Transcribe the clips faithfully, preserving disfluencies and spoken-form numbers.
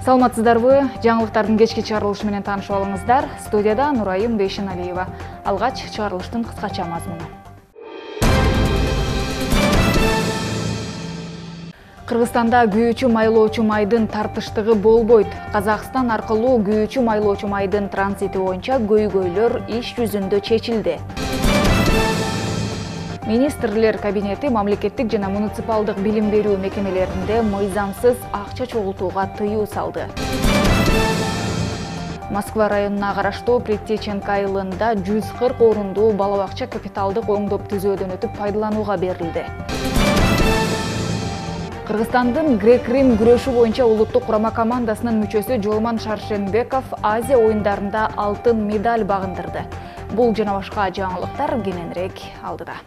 Саламатсыздарбы? Жаңылыктардын кечки чыгарылышы менен таанышып алыңыздар. Студияда Нурайым Бейшеналиева. Алгач чыгарылыштын кыскача мазмуну. Кыргызстанда күйүүчү майлоочу майдын тартыштыгы болбойт. Казакстан аркылуу күйүүчү майлоочу майдын транзити боюнча көйгөйлөр иш жүзүндө чечилди. Министрлер кабинети мамлекеттик жана муниципалдык билим берүү мекемелеринде мыйзамсыз акча чогултууга тыюу салды. Москва районуна караштуу Притеченко айылында жүз кырк орундуу бала бакча капиталдык оңдоп түзөөдөн өтүп пайдаланууга берилди. Кыргызстандын грек-рим күрөшү боюнча улуттук курама командасынын мүчөсү Жолман Шаршенбеков Азия оюндарында алтын медаль багындырды. Бул жана башка жаңылыктар кененирээк алдыда.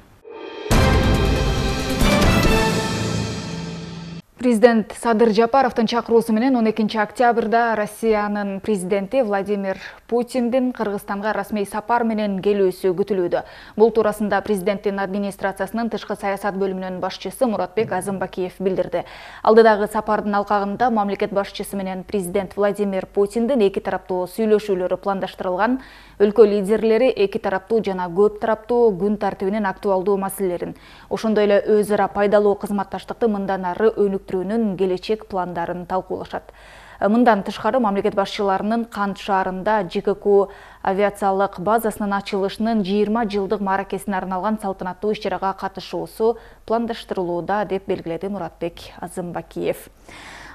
Президент Садыр Жапаровдун чакыруусу менен он экинчи октябрда Россиянын президенти Владимир Путиндин Кыргызстанга расмий сапар менен келүүсү күтүлүүдө. Бул туурасында президенттин администрациясынын тышкы саясат бөлүмүнүн башчысы Муратбек Азымбакиев билдирди. Алдыдагы сапардын алкагында мамлекет башчысы менен президент Владимир Путиндин эки тараптуу сүйлөшүүлөрү пландаштырылган. Өлкө лидерлери эки тараптуу жана көп тараптуу күн тартибинин актуалдуу маселелерин, ошондой эле өз ара пайдалуу кызматташтыкты мындан ары өнүктүрүүнүн келечек пландарын талкуулашат. Мындан тышкары мамлекет башчыларынын Кант шаарында ЖКК авиациялык базасынын ачылышынын жыйырма жылдык мааракесине арналган салтанаттуу иш-чарага катышуусу пландаштырылууда, деп белгиледи Муратбек Азымбакиев.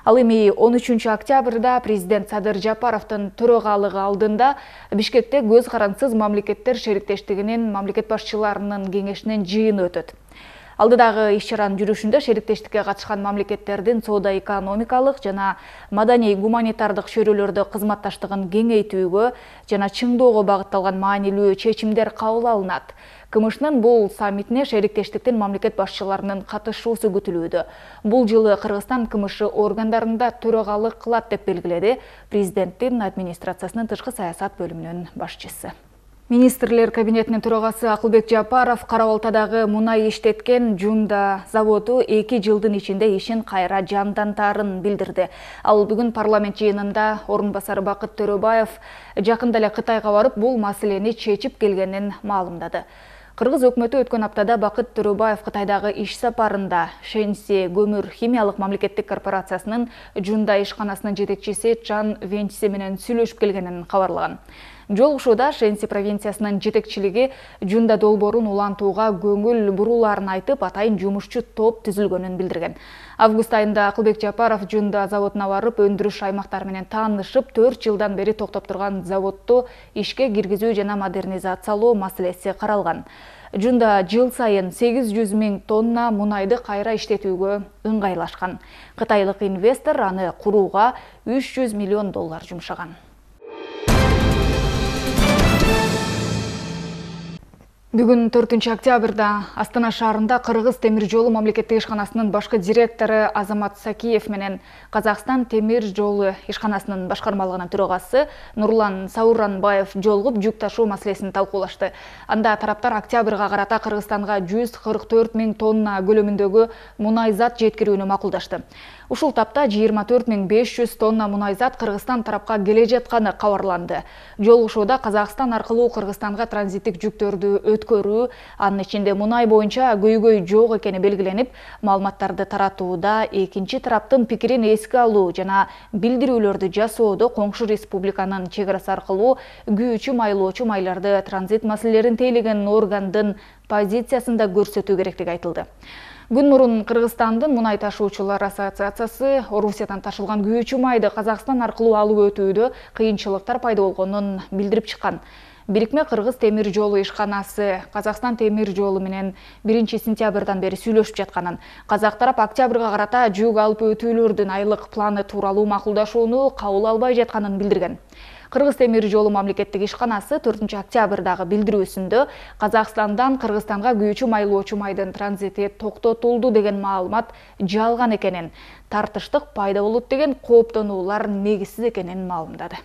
Ал эми он үчүнчү октябрда президент Садыр Жапаровдун төрагалыгы алдында Бишкекте көз карандысыз мамлекеттер шериктештигинин мамлекет башчыларынын кеңешинин жыйыны өтөт. Алдыдагы иш-чаранын жүрүшүндө шериктештикке катышкан мамлекеттердин соода-экономикалык жана маданий-гуманитардык чөйрөлөрдө кызматташтыгын кеңейтүүгө жана чыңдоого багытталган маанилүү чечимдер кабыл алынат. КМШнын бул саммитине шериктештиктин мамлекет башчыларынын катышуусу күтүлүүдө. Бул жылы Кыргызстан КМШ органдарында төрагалык кылат, деп белгиледи президенттин администрациясынын тышкы саясат бөлүмүнүн башчысы. Министрлер кабинетинин төрагасы Акылбек Жапаров Кара Балтадагы мунай иштеткен Жунда заводу эки жылдын ичинде ишин кайра жандантаарын билдирди. Ал бүгүн парламент жыйынында орун басары Бакыт Төрөбаев жакында эле Кытайга барып, бул маселени чечип келгенин маалымдады. Кыргыз өкмөтү өткөн аптада Бакыт Төрөбаев Кытайдагы иш сапарында Шэньси көмүр химиялык мамлекеттик корпорациясынын Жунда ишканасынын жетекчиси Чан Венчси менен сүйлөшүп келгенин кабарлаган. Жолугушууда Шэньси провинциясынын жетекчилиги Жунда долбоорун улантууга көңүл бурууларын айтып, атайын жумушчу топ түзүлгөнүн билдирген. Август айында Акылбек Жапаров Жунда заводуна барып, өндүрүш аймактары менен таанышып, төрт жылдан бери токтоп турган заводду ишке киргизүү жана модернизациялоо маселеси каралган. Жунда жыл сайын сегиз жүз миң тонна мунайды кайра иштетүүгө ыңгайлашкан. Кытайлык инвестор аны курууга үч жүз миллион доллар жумшаган. Бүгүн төртүнчү октябрда Астана шаарында Кыргыз темир жолу мамлекеттик ишканасынын башкы директору Азамат Сакиев менен Казакстан темир жолу ишканасынын башкармалыгынын төрагасы Нурлан Сауранбаев жолугуп жүк ташуу маселесин талкуулашты. Анда тараптар октябрга карата Кыргызстанга жүз кырк төрт миң тонна көлөмүндөгү мунай зат жеткирүүнү макулдашты. Ушул тапта жыйырма төрт миң беш жүз тонна мунай зат Кыргызстан тарапка келе жатканы кабарланды. Жолугушууда Казакстан аркылуу Кыргызстанга транзиттик жүктөрдү өткөрүү, анын ичинде мунай боюнча көйгөй жок экени белгиленип, маалыматтарды таратууда экинчи тараптын пикирин эске алуу жана билдирүүлөрдү жасоодо коңшу республиканын чек арасы аркылуу күйүүчү майлоочу майларды транзит маселелерин тейлеген органдын позициясында көрсөтүү керектиги айтылды. Күн мурун Кыргызстандын мунай ташуучулар ассоциациясы Орусиядан ташылган күйүүчү майды Казакстан аркылуу алып өтүүдө кыйынчылыктар пайда болгонун билдирип чыккан. Бирикме Кыргыз темир жолу ишканасы Казакстан темир жолу менен биринчи сентябрдан бери сүйлөшүп жатканын, казак тарап октябрга карата жүк алып өтүүлөрдүн айлык планы тууралуу макулдашууну кабыл албай жатканын билдирген. Кыргыз темир жолу мамлекеттик ишканасы төртүнчү октябрдагы билдирүүсүндө Казакстандан Кыргызстанга күйүүчү майлоочу майдын транзити токтотулду деген маалымат жалган экенин, тартыштык пайда болот деген кооптонуулар негизсиз экенин маалымдады.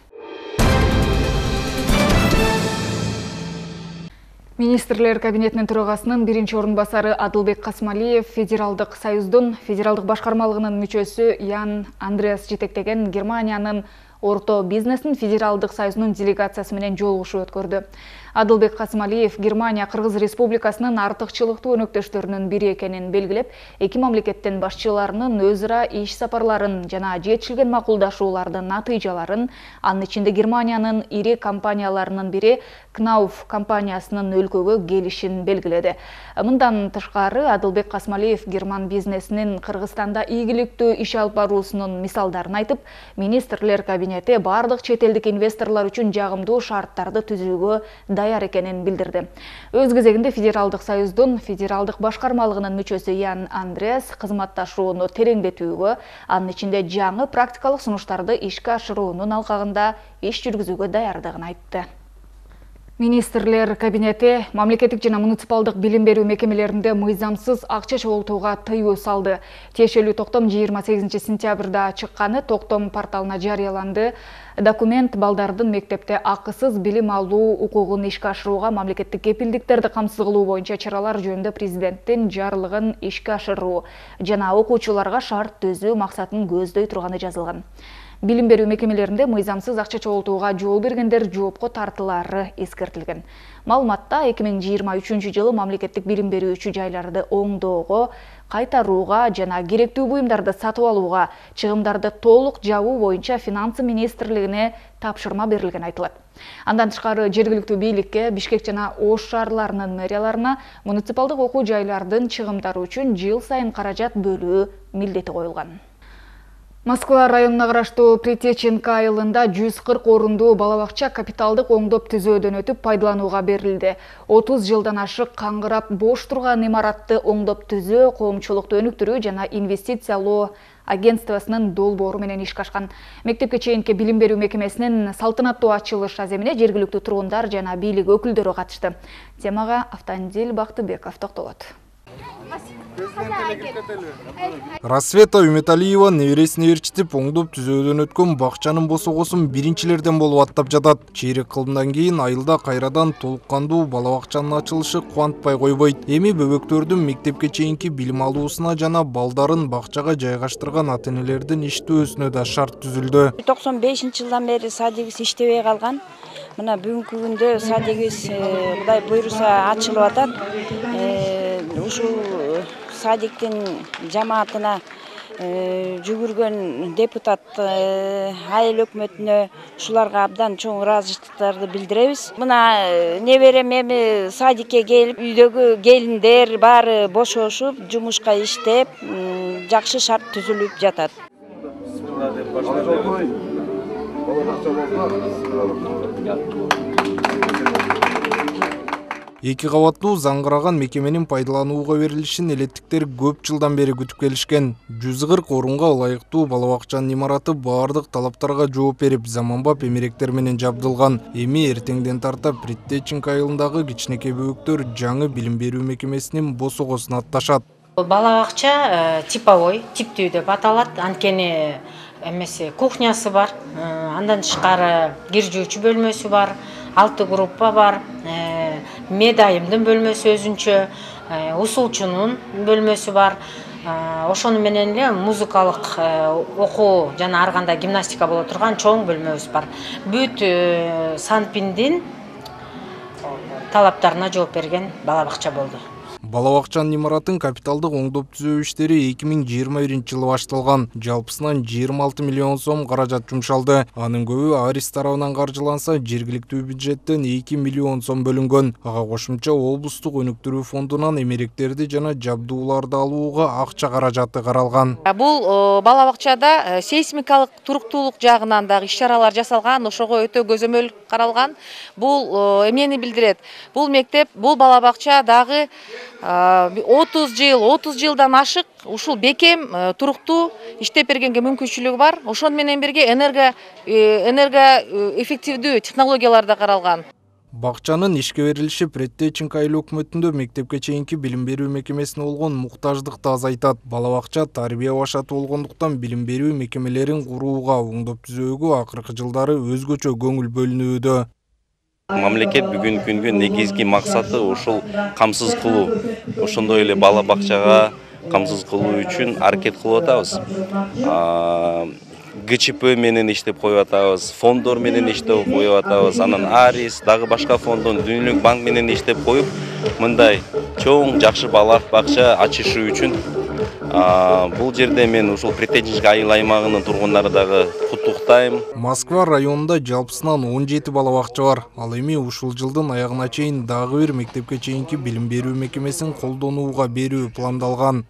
Министрлер кабинетинин төрагасынын биринчи орун басары Адылбек Касмалиев Федералдык союздун федералдык башкармалыгынын мүчөсү Ян Андреас жетектеген Германиянын орто бизнесин федералдык союзунун делегациясы менен жолугушуу өткөрдү. Адылбек Касмалиев Германия Кыргыз Республикасынын артыкчылыктуу өнөктөштөрүнүн бири экенин белгилеп, эки мамлекеттин башчыларынын өз ара иш сапарларын жана жетишилген макулдашуулардын натыйжаларын, анын ичинде Германиянын ири компанияларынын бири Кнауф компаниясынын өлкөгө келишин белгиледи. Мындан тышкары Адылбек Касмалиев герман бизнесинин Кыргызстанда ийгиликтүү иш алып баруусунун мисалдарын айтып, министрлер кабинети бардык чет элдик инвесторлор үчүн жагымдуу шарттарды түзүүгө даяр экенин билдирди. Өз кезегинде Федералдык союздун федералдык башкармалыгынын мүчөсү Ян Андреас кызматташууну тереңдетүүгө, анын ичинде жаңы практикалык сунуштарды ишке ашыруунун алкагында иш жүргүзүүгө даярдыгын айтты. Министрлер кабинети мамлекеттик жана муниципалдык билим берүү мекемелеринде мыйзамсыз акча чогултууга тыюу салды. Тиешелүү токтом жыйырма сегизинчи сентябрда чыкканы токтом порталына жарыяланды. Документ балдардын мектепте акысыз билим алуу укугун ишке ашырууга мамлекеттик кепилдиктерди камсыз кылуу боюнча чаралар жөнүндө президенттин жарлыгын ишке ашыруу жана окуучуларга шарт түзүү максатын көздөй турганы жазылган. Билим берүү мекемелеринде мыйзамсыз акча чогултууга жол бергендер жоопко тартылары эскертилген. Маалыматта эки миң жыйырма үчүнчү жылы мамлекеттик билим берүүчү жайларды оңдоого, кайтарууга жана керектүү буюмдарды сатып алууга чыгымдарды толук жабуу боюнча Финансы министрлигине тапшырма берилгени айтылат. Андан тышкары жергиликтүү бийликке, Бишкек жана Ош шаарларынын мэрияларына муниципалдык окуу жайлардын чыгымдары үчүн жыл сайын каражат бөлүү милдети коюлган. Москва районуна караштуу Притеченка айылында жүз кырк орундуу балабакча капиталдык оңдоп түзөөдөн өтүп пайдаланууга берилди. отуз жылдан ашык каңгырап бош турган имаратты оңдоп түзөө, коомчулукту өнүктүрүү жана инвестициялоо агентствосунун долбоору менен ишке ашкан. Мектепке чейинки билим берүү мекемесинин салтанаттуу ачылыш аземине жергиликтүү тургундар жана бийлик өкүлдөрү катышты. Темага Автандил Бактыбеков токтолот. Рассвета Үмөталиева небересине ээрчитип оңдоп түзөөдөн өткөн бакчанын босогосун биринчилерден болуп аттап жатат. Чейрек кылымдан кийин айылда кайрадан толук кандуу балабакчанын ачылышы кубантпай койбойт. Эми бөбөктөрдүн мектепке чейинки билим алуусуна жана балдарын бакчага жайгаштырган ата-энелердин иштөөсүнө да шарт түзүлдү. токсон бешинчи жылдан бери садигибиз иштебей калган. Мына бүгүнкү күндө садигибиз Кудай буйруса ачылып атат. Ушул садиктин жамаатына жүгүргөн депутат айыл өкмөтүнө ушуларга абдан чоң ыраазычылыктарды билдиребиз. Мына неберем эми садикке келип, үйдөгү келиндер баары бошошуп, жумушка иштеп, жакшы шарт түзүлүп жатат. Эки кабаттуу заңгыраган мекеменин пайдаланууга берилишин элеттиктер көп жылдан бери күтүп келишкен. жүз кырк орунга ылайыктуу балабакчанын имараты баардык талаптарга жооп берип, заманбап эмеректер менен жабдылган. Эми эртеңден тарта Притеченка айылындагы кичинекей бөбөктөр жаңы билим берүү мекемесинин босогосуна атташат. Балабакча типовой, типтүү деп аталат. Анткени эмеси кухнясы бар, андан тышкары кир жуучу бөлмөсү бар, алты группа бар, медайымдын бөлмөсү өзүнчө, усулчунун бөлмөсү бар. Ошону менен эле музыкалык окуу жана ар кандай гимнастика боло турган чоң бөлмөбүз бар. Бүт Санпиндин талаптарына жооп берген балабакча болду. Балабакчанын имаратын капиталдык оңдоп түзөө иштери эки миң жыйырма биринчи жылы башталган. Жалпысынан жыйырма алты миллион сом каражат жумшалды. Анын көбү Арис тарабынан каржыланса, жергиликтүү бюджеттен эки миллион сом бөлүнгөн. Ага кошумча облустук өнүктүрүү фондунан эмеректерди жана жабдууларды алууга акча каражаты каралган. Бул балабакчада сейсмикалык туруктуулук жагынан дагы иш-чаралар жасалган, ошого өтө көзөмөл каралган. Бул эмнени билдирет? Бул мектеп, бул балабакча дагы отуз жыл, отуз жылдан ашык ушул бекем туруктуу иштеп бергенге мүмкүнчүлүгү бар. Ошону менен бирге энерго энерго эффективдүү технологиялар да каралган. Бакчанын ишке берилиши Притеченка айыл өкмөтүндө мектепке чейинки билим берүү мекемесине болгон муктаждыкты азайтат. Балабакча тарбия башаты болгондуктан билим берүү мекемелерин курууга, оңдоп түзөөгө акыркы жылдары өзгөчө көңүл бөлүнүүдө. Мамлекет бүгүнкү күнгө негизги максаты ушул камсыз кылуу. Ошондой эле бала бакчага камсыз кылуу үчүн аракет кылып атабыз. Г Ч П менен иштеп коюп атабыз, фонддор менен иштеп коюп атабыз, анан Арис, дагы башка фонддон Дүнүлүк банк менен иштеп коюп, мындай чоң жакшы бала бакча ачышы үчүн бул жерде мен ушул Притеченский айыл аймагынын тургундары дагы куттуктайм. Москва районунда жалпысынан он жети бала бакча бар. Ал эми ушул жылдын аягына чейин дагы бир мектепке чейинки билим берүү мекемесин колдонууга берүү пландалган.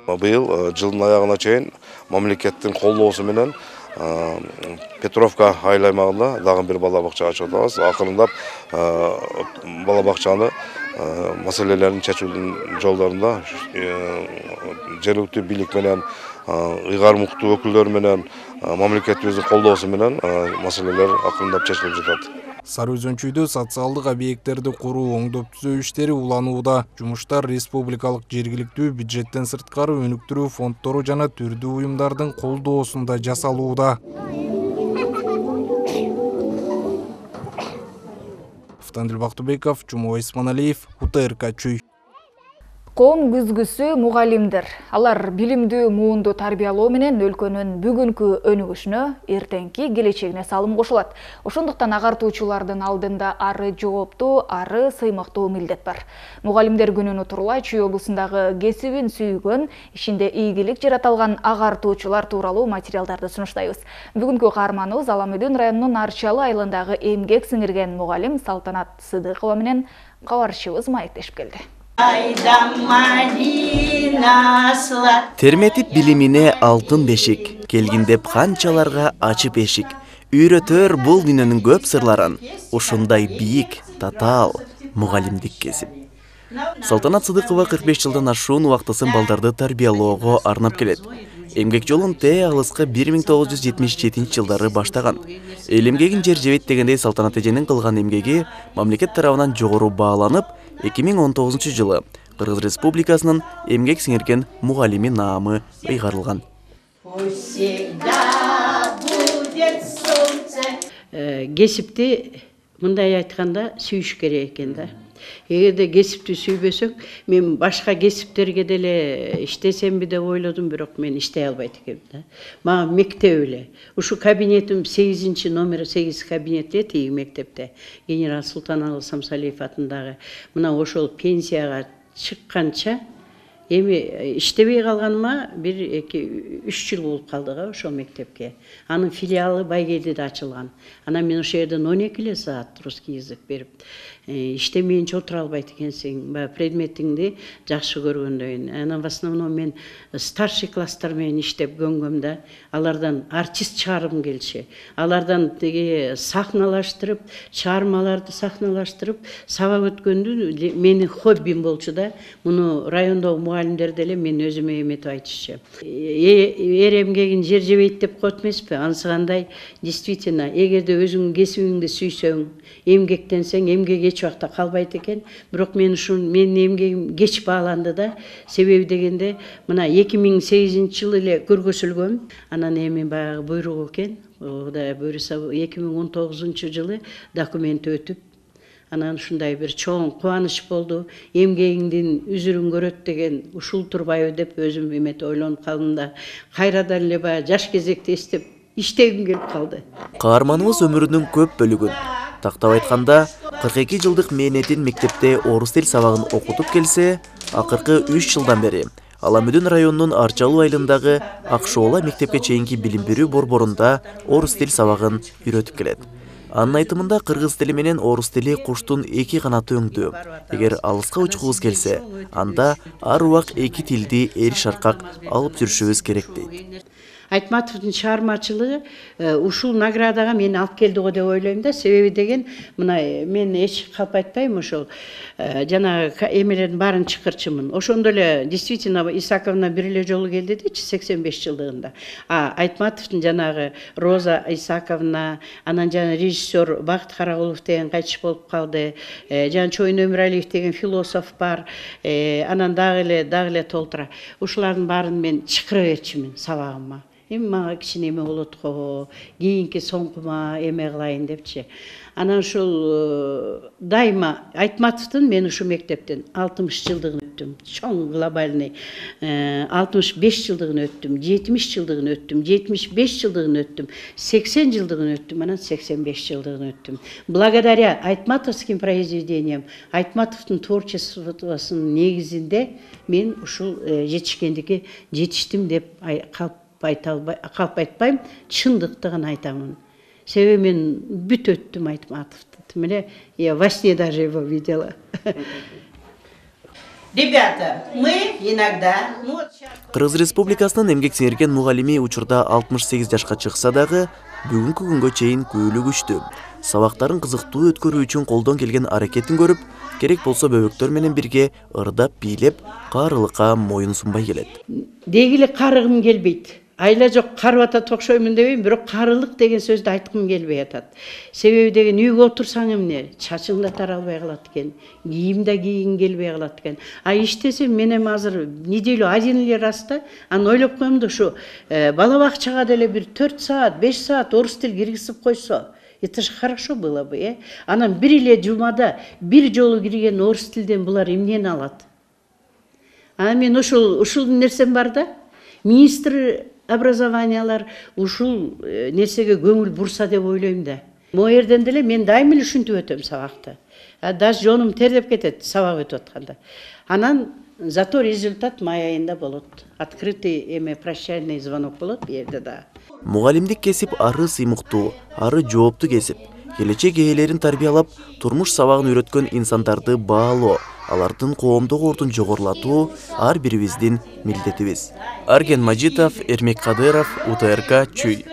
Быйыл жылдын аягына чейин мамлекеттин колдоосу менен Петровка айыл аймагында дагы бир бала бакча ачып атабыз. Акырындап бала бакчаны маселелерин чечүүнүн жолдорунда жергиликтүү бийлик менен, ыйгармуктуу өкүлдөр менен, мамлекетибиздин колдоосу менен маселелер акырындап чечилип жатат. Сары Өзөнчүйдө социалдык объекттерди куруу, оңдоп түзөө иштери уланууда. Жумуштар республикалык жергиликтүү бюджеттен сырткары өнүктүрүү фонддору жана түрдүү уюмдардын колдоосунда жасалууда. Автандил Бактыбеков, Жумабай Исманалиев, У Т Р К Чүй. Коом күзгүсү мугалимдер. Алар билимдүү муунду тарбиялоо менен өлкөнүн бүгүнкү өнүгүшүнө, эртеңки келечегине салым кошулат. Ошондуктан агартуучулардын алдында ары жооптуу, ары сыймыктуу милдет бар. Мугалимдер күнүнө турула Чүй облусундагы кесибин сүйгөн, ишинде ийгилик жарата алган агартуучулар тууралуу материалдарды сунуштайбыз. Бүгүнкү каарманыбыз Аламүдүн районунун Арчалы айылындагы эмгек сиңирген мугалим Салтанат Сыдыкова менен кабарчыбыз маектешип келди. Терметип билимине алтын бешик, келгин деп канчаларга ачып эшик. Үйрөтөр бул дүйнөнүн көп сырларын, ушундай бийик, татаал мугалимдик кесип. Салтанат Сыдыкова кырк беш жылдан ашуун убактысын балдарды тарбиялоого арнап келет. Эмгек жолун те алыска бир миң тогуз жүз жетимиш жетинчи жылдары баштаган. Эл эмгегин жер жебейт дегендей Салтанат эженин кылган эмгеги мамлекет тарабынан жогору бааланып, эки миң он тогузунчу жылы Кыргыз Республикасынын эмгек сиңирген мугалими наамы ыйгарылган. Кесипти мындай айтканда сүйүш керек экен да. Эгерде кесипти сүйбөсөң, мен башка кесиптерге деле иштесемби деп ойлодум, бирок мен иштей албайт экенмин да. Мага мектеп эле. Ушу кабинетим сегизинчи номер сегиз кабинетте тиги мектепте. Генерал Султаналы Самсалиев атындагы. Мына ошол пенсияга чыкканча эми иштебей калганыма бир эки үч жыл болуп калды го ошол мектепке. Анын филиалы Байгелдиде ачылган. Анан мен ошол жерден он эки эле саат русский язык берип иштемейинче отура албайт экенсиң, баягы предметиңди жакшы көргөндөн. Анан в основном мен старший класстар менен иштеп көнгөм да, алардан артист чыгаргым келчү. Алардан тиги сахналаштырып, чыгармаларды сахналаштырып, сабак өткөндү менин хоббим болчу да. Муну райондогу мугалимдер деле мен өзүмө эметип айтышчу. Эр эмгегин жер жебейт деп коет эмеспи? Ансыгандай действительно, эгерде өзүңдүн кесибиңди сүйсөң, эмгектенсең, эмгек эч убакта калбайт экен. Бирок мен ушун менин эмгегим кеч бааланды да. Себеби дегенде, мына эки миң сегизинчи жылы эле көргөзүлгөм. Анан эми баягы буйрук экен. Кудай буйруса эки миң он тогузунчу жылы документ өтүп, анан ушундай бир чоң кубаныч болду. Эмгегиңдин үзүрүн көрөт деген ушул турбайбы деп өзүм эметип ойлонуп калдым да. Кайрадан эле баягы жаш кезекти эстеп иштегим келип калды. Каарманыбыз өмүрүнүн көп бөлүгүн, тактап айтканда, кырк эки жылдык мээнетин мектепте орус тил сабагын окутуп келсе, акыркы үч жылдан бери Аламүдүн районунун Арчалуу айылындагы Акшоола мектепке чейинки билим берүү борборунда орус тил сабагын үйрөтүп келет. Анын айтымында кыргыз тили менен орус тили куштун эки канаты өңдүү. Эгер алыска учкубуз келсе, анда ар убак эки тилди эр шаркак алып жүрүшүбүз керек дейт. Айтматовдун чыгармачылыгы ушул наградага мени алып келди го деп ойлойм да. Себеби деген, мына мен эч калп айтпайм, ошол жана эмелердин баарын чакырчумун. Ошондо эле действительно Исаковна бир эле жолу келди дечи сексен беш жылдыгында. А Айтматовдун жанагы Роза Исаковна, анан жана режиссер Бакыт Карагулов деген кайтыш болуп калды. Жана Чоюн Өмүралиев деген философ бар. Анан дагы эле дагы эле толтура. Ушулардын баарын мен чакыра берчүмүн сабагыма. эми мага кичине эме болот го, кийинки соңкума эме кылайын депчи. Анан ушул дайыма Айтматовдун мен ушу мектептен алтымыш жылдыгын өттүм. Чоң глобальный алтымыш беш жылдыгын өттүм, жетимиш жылдыгын өттүм, жетимиш беш жылдыгын өттүм, сексен жылдыгын өттүм, анан сексен беш жылдыгын өттүм. Благодаря айтматовским произведениям, Айтматовдун творчествосунун негизинде мен ушул жетишкендикке жетиштим деп калп айта албай, калп айтпайм, чындыкты гана айтамын. Себеби мен бүт өттүм Айтматовду. Міне, я во сне даже его видела. Ребята, мы иногда... Кыргыз Республикасынын эмгек сиңирген мугалими учурда алтымыш сегиз жашка чыкса дагы, бүгүнкү күнгө чейин көйлү күчтүү. Сабактарын кызыктуу өткөрүү үчүн колдон келген аракетин көрүп, керек болсо бөбөктөр менен бирге ырдап бийлеп, карылыкка моюн сунбай келет. Дегиле карыгым келбейт. Айла жок карып атат окшоймун дебейм, бирок карылык деген сөздү айткым келбей атат. Себеби деген үйгө отурсаң эмне, чачың да таралбай калат экен, кийим да кийгиң келбей калат экен. А иштесем мен эми азыр неделю один эле раста, анан ойлоп коем да ушу бала бакчага деле бир төрт саат, беш саат орус тил киргизип койсо, это же хорошо было бы, э? Анан бир эле жумада бир жолу кирген орус тилден булар эмнени алат? Анан мен ушул ушул нерсем бар да, министр образованиялар ушул нерсеге көңүл бурса деп ойлойм да. Могу жерден деле мен дайым эле ушинтип өтөм сабакты. Даже жонум тердеп кетет сабак өтүп атканда. Анан зато результат май айында болот. Открытый эме прощальный звонок болот бу жерде да. Мугалимдик кесип ары сыймыктуу, ары жооптуу кесип. Келечек ээлерин тарбиялап, турмуш сабагын үйрөткөн инсандарды баалоо, алардын коомдук ордун жогорулатуу ар бирибиздин милдетибиз. Арген Мажитов, Эрмек Кадыров, У Т Р К, Чүй.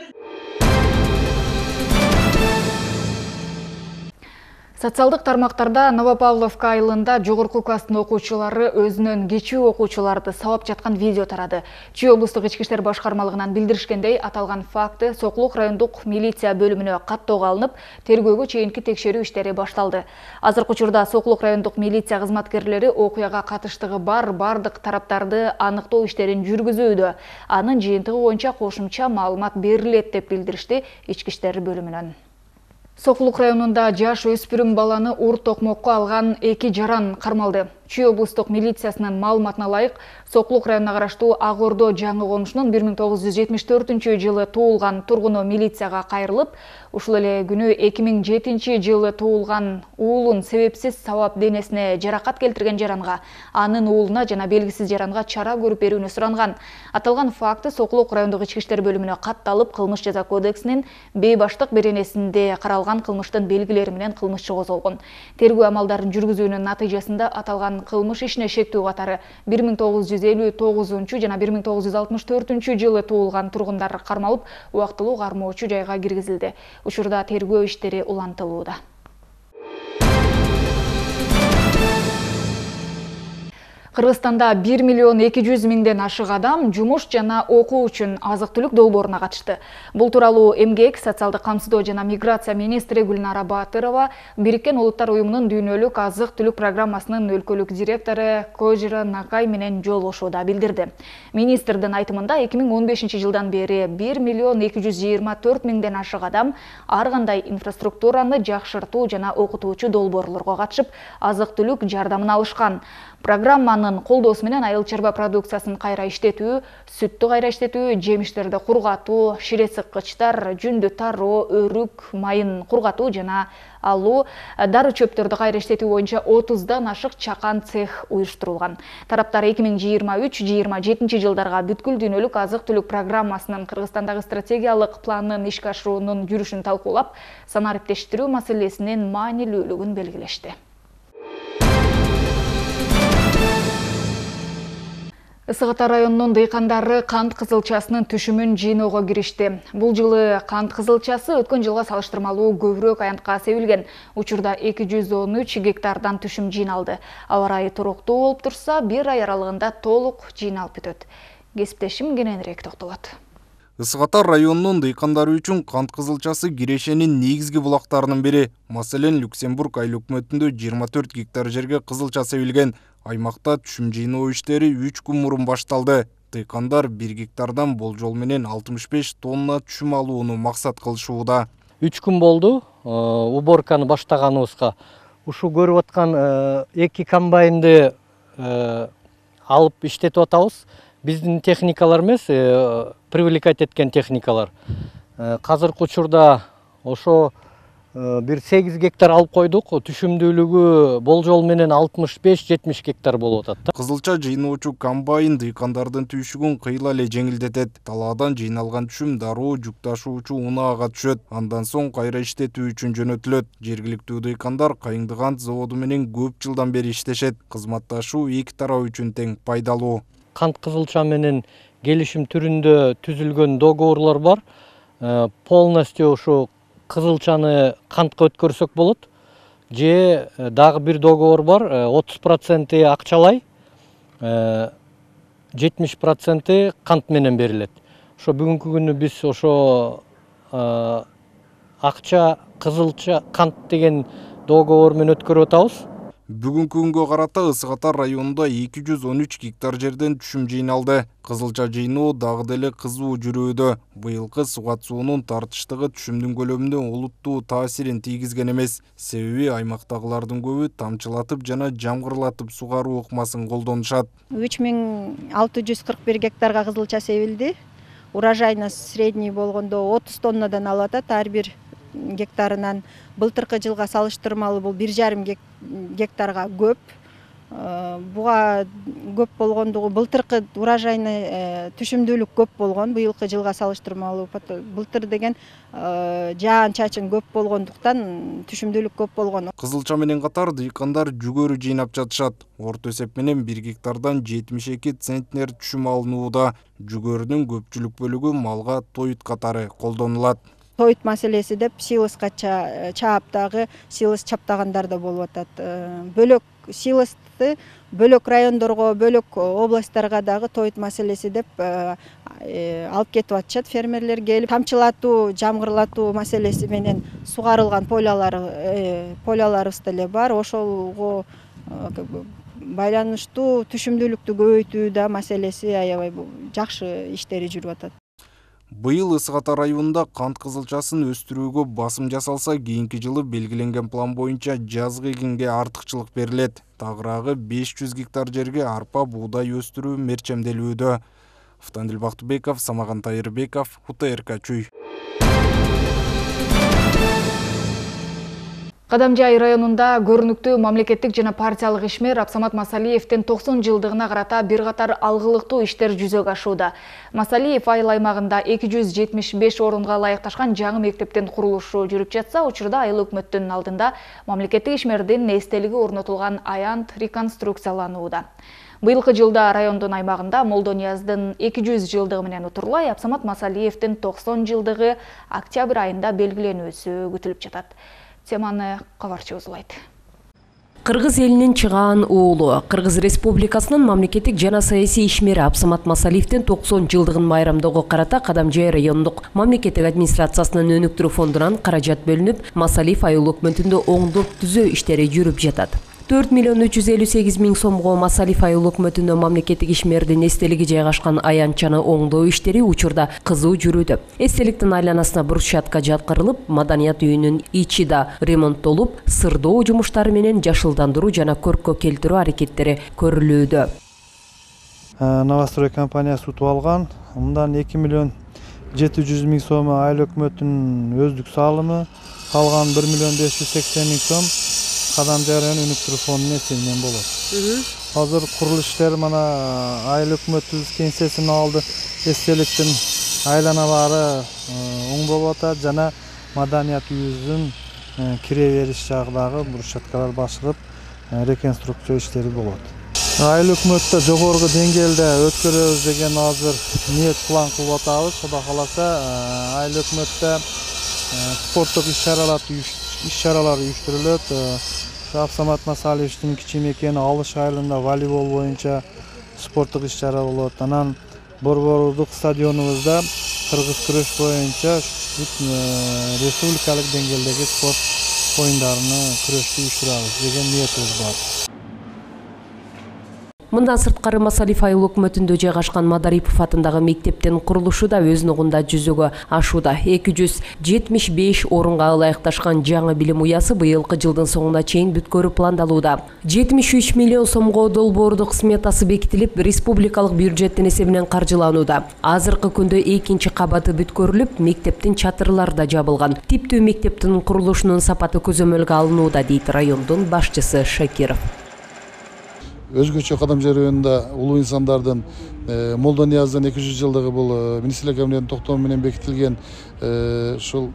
Социалдык тармактарда Новопавловка айылында жогорку класстын окуучулары өзүнөн кечүү окуучуларды сабап жаткан видео тарады. Чүй облустук ички иштер башкармалыгынан билдиришкендей, аталган факты Сокулук райондук милиция бөлүмүнө каттоого алынып, тергөөгө чейинки текшерүү иштери башталды. Азыркы учурда Сокулук райондук милиция кызматкерлери окуяга катыштыгы бар бардык тараптарды аныктоо иштерин жүргүзүүдө. Анын жыйынтыгы боюнча кошумча маалымат берилет деп билдиришти ички иштер бөлүмүнөн. Сокулук районунда жаш өспүрүм баланы ур токмокко алган эки жаран кармалды. Чүй облустук милициясынын маалыматына ылайык, Сокулук районуна караштуу Ак Ордо жаңы конушунун бир миң тогуз жүз жетимиш төртүнчү жылы туулган тургуну милицияга кайрылып, ушул эле күнү эки миң жетинчи жылы туулган уулун себепсиз сабап денесине жаракат келтирген жаранга, анын уулуна жана белгисиз жаранга чара көрүп берүүнү суранган. Аталган факты Сокулук райондук ички иштер бөлүмүнө катталып, кылмыш жаза кодексинин бейбаштык беренесинде каралган кылмыштын белгилери менен кылмышчы козголгон. Тергөө амалдарын жүргүзүүнүн натыйжасында аталган кылмыш ишине шектүү катары бир миң тогуз жүз элүү тогузунчу жана бир миң тогуз жүз алтымыш төртүнчү жылы туулган тургундар кармалып, убактылуу кармоочу жайга киргизилди. Учурда тергөө иштери улантылууда. Кыргызстанда бир миллион эки жүз миңден ашык адам жумуш жана окуу үчүн азык-түлүк долбооруна катышты. Бул тууралуу Эмгек, социалдык камсыздоо жана миграция министри Гүлнара Батырова Бириккен Улуттар уюмунун дүйнөлүк азык-түлүк программасынын өлкөлүк директору Кожира Накай менен жолугушууда билдирди. Министрдин айтымында эки миң он бешинчи жылдан бери бир миллион эки жүз жыйырма төрт миңден ашык адам ар кандай инфраструктураны жакшыртуу жана окутуучу долбоорлорго катышып, азык-түлүк жардамын алышкан. Программанын колдоосу менен айыл чарба продукциясын кайра иштетүү, сүттү кайра иштетүү, жемиштерди кургатуу, шире сыккычтар, жүндү тароо, өрүк майын кургатуу жана алуу, дары чөптөрдү кайра иштетүү боюнча отуздан ашык чакан цех уюштурулган. Тараптар эки миң жыйырма үч жыйырма жетинчи жылдарга бүткүл дүйнөлүк азык-түлүк программасынын Кыргызстандагы стратегиялык планын ишке ашыруунун жүрүшүн талкуулап, санариптештирүү маселесинин маанилүүлүгүн белгилешти. Ысык Ата районунун дыйкандары кант кызылчасынын түшүмүн жыйноого киришти. Бул жылы кант кызылчасы өткөн жылга салыштырмалуу көбүрөөк аянтка себилген. Учурда эки жүз он үч гектардан түшүм жыйналды. Аба ырайы туруктуу болуп турса, бир ай аралыгында толук жыйналып бүтөт. Кесиптешим кененирээк токтолот. Ысык Ата районунун дыйкандары үчүн кант кызылчасы Кирешенин негизги булактарынын бири. Маселен, Люксембург айыл өкмөтүндө жыйырма төрт гектар жерге кызылча себилген. Аймакта түшүм жыйноо иштери үч күн мурун башталды. Дыйкандар бир гектардан болжол менен алтымыш беш тонна түшүм алууну максат кылышууда. үч күн болду уборканы баштаганыбызга. Ушу көрүп аткан эки комбайнды алып иштетип атабыз. Биздин техникалар эмес, привлекать эткен техникалар. Казыркы учурда ошо бир сегиз гектар алып койдук. Түшүмдүүлүгү болжол менен алтымыш беш жетимиш гектар болуп атат. Кызылча жыйноочу комбайн дыйкандардын түйшүгүн кыйла эле жеңилдетет. Талаадан жыйналган түшүм дароо жүк ташуучу унаага түшөт. Андан соң кайра иштетүү үчүн жөнөтүлөт. Жергиликтүү дыйкандар Кайыңды кант заводу менен көп жылдан бери иштешет. Кызматташуу эки тарап үчүн тең пайдалуу. Кант кызылча менен келишим түрүндө түзүлгөн договорлор бар. Полностью ушу кызылчаны кантка өткөрсөк болот. Же дагы бир договор бар, отуз проценти акчалай, жетимиш проценти кант менен берилет. Ошо бүгүнкү күнү биз ошо акча, кызылча, кант деген договор менен өткөрүп атабыз. Бүгүнкү күнгө карата Ысык Ата районунда эки жүз он үч гектар жерден түшүм жыйналды. Кызылча жыйноо дагы деле кызуу жүрүүдө. Быйылкы сугат суунун тартыштыгы түшүмдүн көлөмүнө олуттуу таасирин тийгизген эмес. Себеби аймактагылардын көбү тамчылатып жана жамгырлатып сугаруу ыкмасын колдонушат. үч миң алты жүз кырк бир гектарга кызылча себилди. Урожайна средний болгондо отуз тоннадан алып атат ар бир гектарынан. Былтыркы жылга салыштырмалуу бул бир жарым гектарга көп. Буга көп болгондугу былтыркы урожайный түшүмдүүлүк көп болгон, быйылкы жылга салыштырмалуу. Былтыр деген жаан-чачын көп болгондуктан түшүмдүүлүк көп болгон. Кызылча менен катар дыйкандар жүгөрү жыйнап жатышат. Орто эсеп менен бир гектардан жетимиш эки центнер түшүм алынууда. Жүгөрүнүн көпчүлүк бөлүгү малга тоют катары колдонулат. Тоют маселеси деп силоско чаап дагы силос чаптагандар да болуп атат. Бөлөк силосты бөлөк райондорго, бөлөк областтарга дагы тоют маселеси деп алып кетип атышат фермерлер келип. Тамчылатуу, жамгырлатуу маселеси менен сугарылган полялар, поляларыбыз деле бар. Ошого байланыштуу түшүмдүүлүктү көбөйтүү да маселеси аябай жакшы иштери жүрүп атат. Быйыл Ысык Ата районунда кант кызылчасын өстүрүүгө басым жасалса, кийинки жылы белгиленген план боюнча жазгы эгинге артыкчылык берилет. Тагыраагы беш жүз гектар жерге арпа, буудай өстүрүү мерчемделүүдө. Автандил Бактыбеков, Самаган Тайырбеков, У Т Р К Чүй. Кадамжай районунда көрүнүктүү мамлекеттик жана партиялык ишмер Абсамат Масалиевдин токсон жылдыгына карата бир катар алгылыктуу иштер жүзөгө ашууда. Масалиев айыл аймагында эки жүз жетимиш беш орунга ылайыкташкан жаңы мектептин курулушу жүрүп жатса, учурда айыл өкмөттүн алдында мамлекеттик ишмердин эстелиги орнотулган аянт реконструкцияланууда. Быйылкы жылда райондун аймагында Молдонияздын эки жүз жылдыгы менен утурлай Абсамат Масалиевдин токсон жылдыгы октябрь айында белгиленүүсү күтүлүп жатат. Теманы кабарчы узулайт. Кыргыз элинин чыгаан уулу, Кыргыз Республикасынын мамлекеттик жана саясий ишмери Абсамат Масалиевдин токсон жылдыгын майрамдоого карата Кадамжай райондук мамлекеттик администрациясынын өнүктүрүү фондунан каражат бөлүнүп, Масалиев айыл өкмөтүндө оңдоп түзөө иштери жүрүп жатат. төрт миллион үч жүз элүү сегиз миң сомго Масалиев айыл өкмөтүндө мамлекеттик ишмердин эстелиги жайгашкан аянтчаны оңдоо иштери учурда кызуу жүрүүдө. Эстеликтин айланасына брусчатка жаткырылып, маданият үйүнүн ичи да ремонттолуп, сырдоо жумуштары менен жашылдандыруу жана көрккө келтирүү аракеттери көрүлүүдө. Новострой компаниясы утуп алган. Мындан эки миллион жети жүз миң сом айыл өкмөтүнүн өздүк салымы, калган бир миллион беш жүз сексен миң сом Кадамжай району өнүктүрүү фондунун эсебинен болот. Азыр курулуш иштери мана айыл өкмөтүбүз кеңсесин алды. Эстеликтин айланалары оң болуп атат жана маданият үйүбүздүн кире бериш жагдагы брусчаткалар басылып, реконструкция иштери болот. Айыл өкмөттө жогорку деңгээлде өткөрөбүз деген азыр ниет план кылып атабыз. Кудай кааласа, айыл өкмөттө спорттук иш-чаралар иш-чаралар уюштурулат. Абсамат Масалиевдин кичи мекени Алыш айылында волейбол боюнча спорттук иш-чара болот. Анан Борбордук стадионубузда кыргыз күрөш боюнча республикалык деңгээлдеги спорт оюндарыны күрөштү уюштурабыз деген ниетибиз бар. Мындан сырткары Масалиев айыл өкмөтүндө жайгашкан Мадарипов атындагы мектептин курулушу да өз ногунда жүзөгө ашууда. эки жүз жетимиш беш орунга ылайыкташкан жаңы билим уясы быйылкы жылдын соңуна чейин бүткөрүү пландалууда. жетимиш үч миллион сомго долбоордук сметасы бекитилип, республикалык бюджеттин эсебинен каржыланууда. Азыркы күндө экинчи кабаты бүткөрүлүп, мектептин чатырлары да жабылган. Типтүү мектептин курулушунун сапаты көзөмөлгө алынууда, дейт райондун башчысы Шакиров. Өзгөчө Кадамжай районунда улуу инсандардын Молдо Нияздын эки жүз жылдыгы бул министрлер кабинетинин токтому менен бекитилген ушул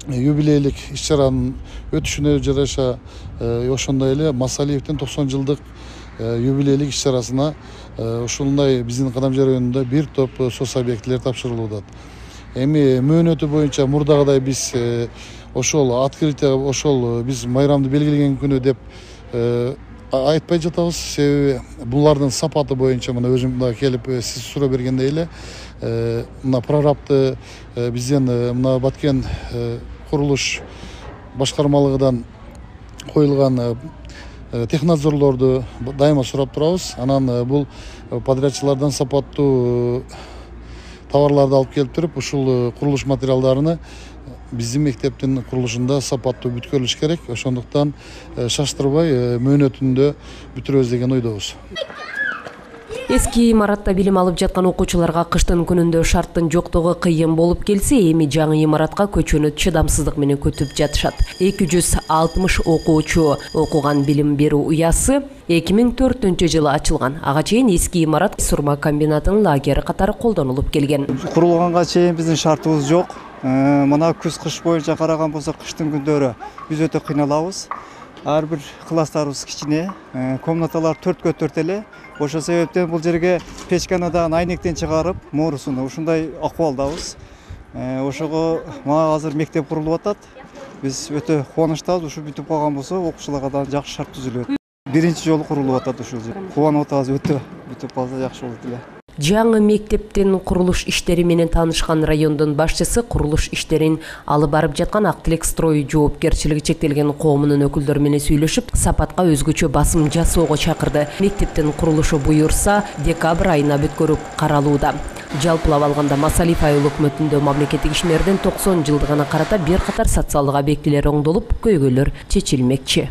юбилейлик иш-чаранын өтүшүнө жараша ошондой эле Масалиевдин токсон жылдык юбилейлик иш-чарасына ушундай биздин Кадамжай районунда бир топ соц объектилер тапшырылууда. Эми мөөнөтү боюнча мурдагыдай биз ошол открытие ошол биз майрамды белгилеген күнү деп айтпай жатабыз. Себеби булардын сапаты боюнча мына өзүм мына келип сиз суроо бергендей эле мына прорабты бизден мына Баткен курулуш башкармалыгынан коюлган технадзорлорду дайыма сурап турабыз. Анан бул подрядчылардан сапаттуу товарларды алып келип туруп, ушул курулуш материалдарыны биздин мектептин курулушунда сапаттуу бүткөрүлүш керек. Ошондуктан шаштырбай мөөнөтүндө бүтүрөбүз деген ойдобуз. Эски имаратта билим алып жаткан окуучуларга кыштын күнүндө шарттын жоктугу кыйын болуп келсе, эми жаңы имаратка көчүүнү чыдамсыздык менен күтүп жатышат. эки жүз алтымыш окуучу окуган билим берүү уясы эки миң төртүнчү жылы ачылган. Ага чейин эски имарат сурма комбинатынын лагери катары колдонулуп келген. Курулганга чейин биздин шартыбыз жок. Мына күз-кыш боюнча караган болсок, кыштын күндөрү биз өтө кыйналабыз. Ар бир класстарыбыз кичине, комнаталар төрткө төрт эле. Ошол себептен бул жерге печканадан айнектен чыгарып, моорусуну ушундай акыбалдабыз. Ошого мага азыр мектеп курулуп атат. Биз өтө кубанычтабыз. Ушу бүтүп калган болсо, окуучуларга да жакшы шарт түзүлөт. Биринчи жолу курулуп атат ушул жер. Кубанып атабыз, өтө бүтүп калса жакшы болот эле. Жаңы мектептин курулуш иштери менен таанышкан райондун башчысы курулуш иштерин алып барып жаткан Актилек строй жоопкерчилиги чектелген коомунун өкүлдөрү менен сүйлөшүп, сапатка өзгөчө басым жасоого чакырды. Мектептин курулушу буюрса, декабрь айына бүткөрүп каралууда. Жалпылап алганда Масалиев айыл өкмөтүндө мамлекеттик ишмердин токсон жылдыгына карата бир катар социалдык объектилер оңдолуп, көйгөйлөр чечилмекчи.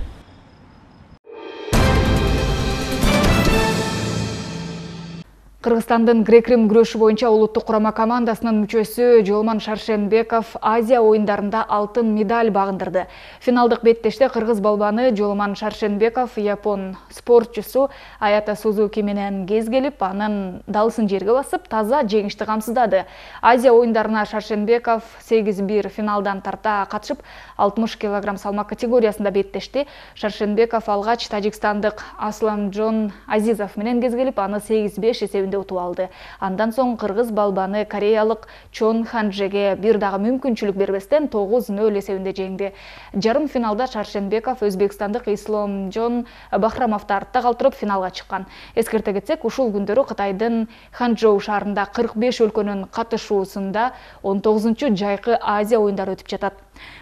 Кыргызстандын грек-рим күрөшү боюнча улуттук курама командасынын мүчөсү Жолман Шаршенбеков Азия оюндарында алтын медаль багындырды. Финалдык беттеште кыргыз балбаны Жолман Шаршенбеков япон спортчусу Аята Сузуки менен кез келип, анын далысын жерге басып, таза жеңишти камсыздады. Азия оюндарына Шаршенбеков сегиз бир финалдан тарта катышып, алтымыш килограмм салмак категориясында беттешти. Шаршенбеков алгач тажикстандык Асламжон Азизов менен кез келип, аны сегиз беш эсебинде утуп алды. Андан соң кыргыз балбаны кореялык Чон Ханжеге бир дагы мүмкүнчүлүк бербестен тогуз нөл эсебинде жеңди. Жарым финалда Шаршенбеков өзбекстандык Исламжон Бахрамовду артта калтырып финалга чыккан. Эскерте кетсек, ушул күндөрү Кытайдын Ханчжоу шаарында кырк беш өлкөнүн катышуусунда он тогузунчу жайкы Азия оюндары өтүп жатат.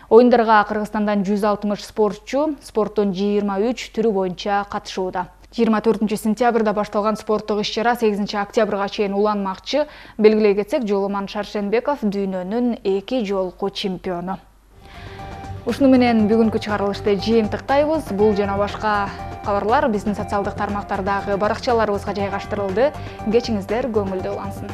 Оюндарга Кыргызстандан жүз алтымыш спортчу спорттун жыйырма үч түрү боюнча катышууда. жыйырма төртүнчү сентябрда башталган спорттук иш-чара сегизинчи октябрга чейин уланмакчы. Белгилей кетсек, Жолман Шаршенбеков дүйнөнүн эки жолку чемпиону. Ушуну менен бүгүнкү чыгарылышты жыйынтыктайбыз. Бул жана башка кабарлар биздин социалдык тармактардагы баракчаларыбызга жайгаштырылды. Кечиңиздер көңүлдүү улансын.